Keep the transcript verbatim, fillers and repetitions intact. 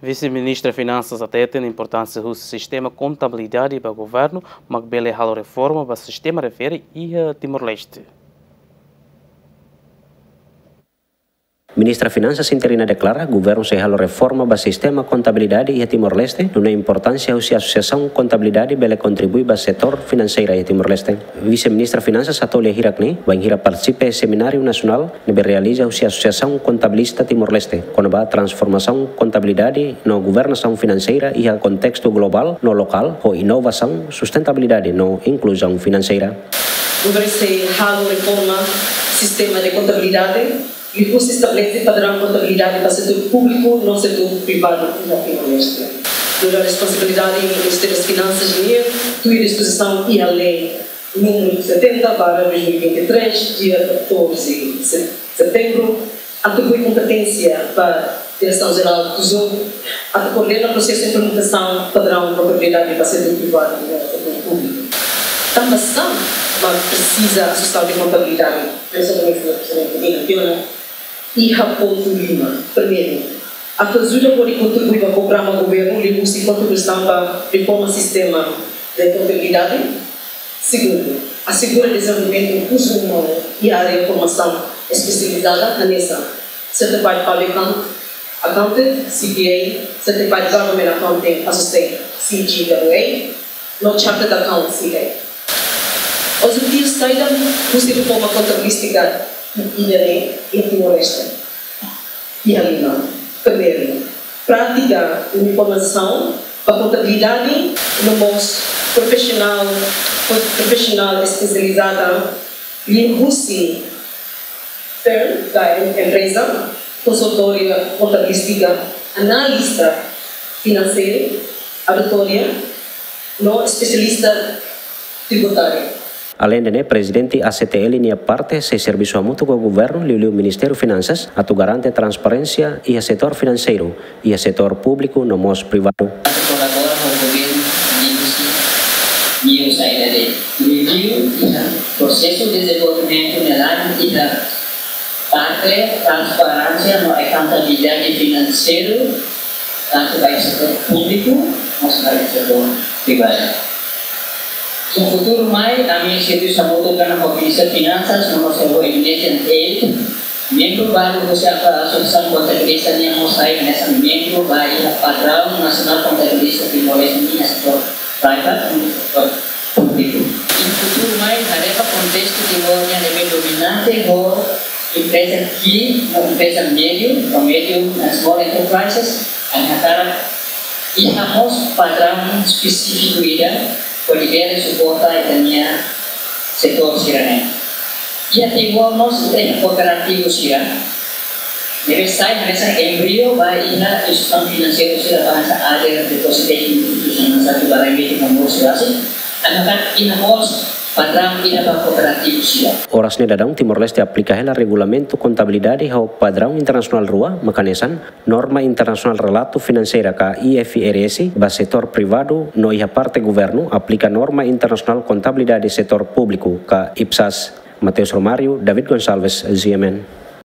Vise-Ministra Finansas hateten importánsia husi sistema kontabilidade ba governu, mak bele halo reforma ba sistema refere iha Timor-Leste. Ministra Finansas interina deklara, governu sei halo reforma ba sistema kontabilidade iha Timor-Leste, nune'e importánsia husi asosiasaun kontabilidade bele kontribui ba setór finanseira iha Timor-Leste. Vise-Ministra Finansas hato'o lia hirak ne'e, bainhira partisipa iha semináriu nasionál ne'ebé realiza husi Asosiasaun Kontabilista Timor-Leste, kona-ba transformasaun kontabilidade no governasaun finanseira iha kontestu globál no lokál, ho inovasaun, sustentabilidade no inkluzaun finanseira. Governu sei halo reforma sistema de kontabilidade, liuhusi estabelese padraun kontabilidade ba setór públiku no setór privadu iha Timor-Leste. Nu'udar responsabilidade Ministériu das Finansas nian, tuir dispozisaun iha lei númeru setenta barra dois mil e vinte e três, dia catorze de setembro, atribui kompeténsia ba Diresaun Jerál Tesouru atu koordena prosesu implementasaun padraun kontabilidade ba setór privadu no setór públiku. Tanba sá mak presiza Asosiasaun de Kontabilidade, Diresaun Jerál Tesouru, iha pontu lima. Primeiru, atu ajuda hodi kontribui ba programa governu liuhusi kontribuisaun ba reforma sistema de kontabilidade. Segundu, asegura dezenvolvimentu rekursu umanu iha área formasaun espesializada, hanesan Certified Public Account-, Accountant, C P A, Certified Government Accounting Associate, C G W A, no Chartered Accountant, C A. Objetivu saida husi reforma kontabilístika ida-ne'e iha Timor-Leste? Iha lima. Primeiru, prátika uniformizasaun ba kontabilidade no mós profisionál, profisionál espesializada liuhusi firm ka em-, empreza, konsultória kontabilístika, analista finanseiru, auditória no espesialista tributáriu. Aleinde ne'e, Prezidente A C T L nia parte sei servisu hamutuk ho governu, liuliu Ministériu Finansas, atu garante transparénsia iha setór finanseiru, iha setór públiku no mós privadu. Atu kolabora ho governu liuhusi ninia saida de'it, liuliu iha prosesu dezenvolvimentu ne'e laran iha parte transparénsia no akontabilidade finanseiru, tantu ba setór públiku, mós ba setór privadu. Iha futuru mai, ami sei servisu hamutuk ho Ministériu Finansas, no mós ho Indonesian Aid, membru balu husi Asosiasaun Kontabilista nian mós sai hanesan membru ba iha Padraun Nasionál Kontabilista Timor-Leste nian setór privadu no setór públiku. Iha futuru mai, haree ba kontestu Timor nian ne'ebé dominante ho empreza ki'ik no empreza médiu, no medium and small enterprises, ami hakarak iha mós padraun espesífiku ida hodi bele suporta ita-nia setór sira-ne'e. Iha Timor mós ita iha kooperativu sira ne'ebé sai hanesan embrio ba iha instituisaun finanseiru sira, ba hanesan Azer, Depositec, instituisaun sira, Barai Meti, no mós sira seluk. Ami hakarak iha mós padraun ida ba kooperativu sira. Oras ne'e daudaun Timor-Leste aplika hela regulamentu kontabilidade ho padraun internasionál rua, mak hanesan Norma Internasionál Relatu Finanseira ka I F R S ba setór privadu, no iha parte governu aplika Norma Internasionál Kontabilidade Setór Públiku ka IPSAS. Mateus Romário, David Gonçalves, G M N.